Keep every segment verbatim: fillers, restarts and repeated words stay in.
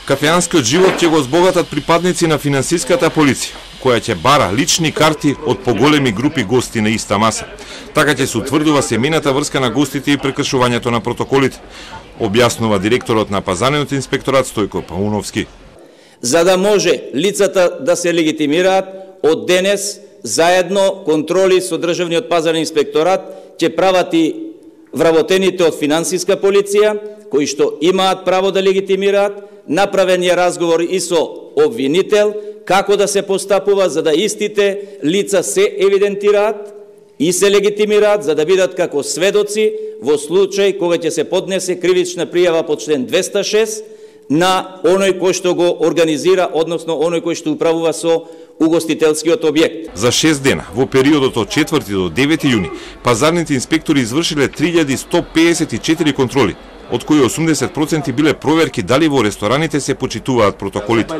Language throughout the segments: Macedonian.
Кафеанскиот живот ќе го збогатат припадници на финансиската полиција, која ќе бара лични карти од поголеми групи гости на иста маса. Така ќе се утврдува семејната врска на гостите и прекршувањето на протоколите, објаснува директорот на Пазарниот инспекторат Стојко Пауновски. За да може лицата да се легитимираат, од денес заедно контроли со Државниот пазарен инспекторат ќе прават и вработените од финансиска полиција, кои што имаат право да легитимираат, направен е разговор и со обвинител, како да се постапува за да истите лица се евидентираат и се легитимираат за да бидат како сведоци во случај кога ќе се поднесе кривична пријава по член двеста шест на оној кој што го организира, односно оној кој што управува со угостителскиот објект. За шест дена, во периодот од четврти до девети јуни, пазарните инспектори извршиле три илјади сто педесет и четири контроли, од кои осумдесет проценти биле проверки дали во рестораните се почитуваат протоколите.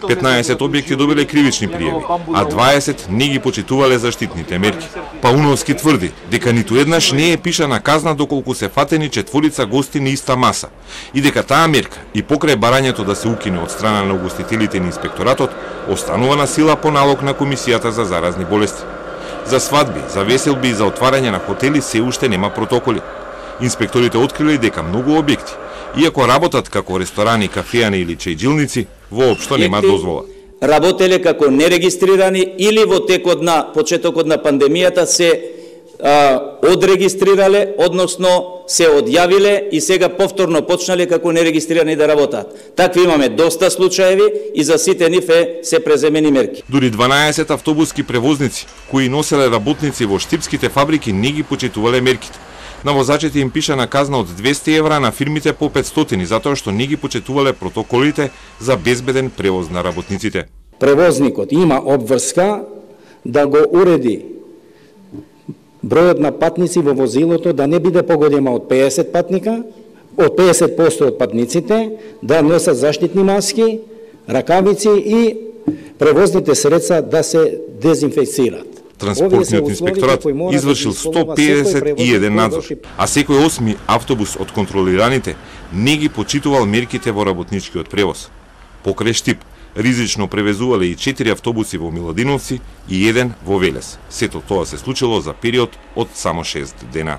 петнаесет објекти добиле кривични пријави, а дваесет не ги почитувале заштитните мерки. Пауновски тврди дека ниту еднаш не е пишана казна доколку се фатени четворица гости на иста маса и дека таа мерка и покрај барањето да се укине од страна на угостителите на инспекторатот останува на сила по налог на Комисијата за заразни болести. За свадби, за веселби и за отварање на хотели се уште нема протоколи. Инспекторите откриле дека многу објекти, иако работат како ресторани, кафеани или чајджилници, воопшто нема дозвола. Работеле како нерегистрирани или во текот на почетокот на пандемијата се а, одрегистрирале, односно се одјавиле и сега повторно почнале како нерегистрирани да работат. Такви имаме доста случаеви и за сите нив е се преземени мерки. Дури дванаесет автобуски превозници кои носеле работници во штипските фабрики не ги почитувале мерките. На возачите им пишана казна од двесте евра, на фирмите по петстотини, затоа што не ги почитувале протоколите за безбеден превоз на работниците. Превозникот има обврска да го уреди бројот на патници во возилото да не биде погодема од педесет патника, од педесет проценти од патниците, да носат заштитни маски, ракавици и превозните средства да се дезинфекцираат. Транспортниот инспекторат извршил сто педесет и еден надзор, а секој осми автобус од контролираните не ги почитувал мерките во работничкиот превоз. Покрај Штип, ризично превезувале и четири автобуси во Миладиновци и еден во Велес. Сето тоа се случило за период од само шест дена.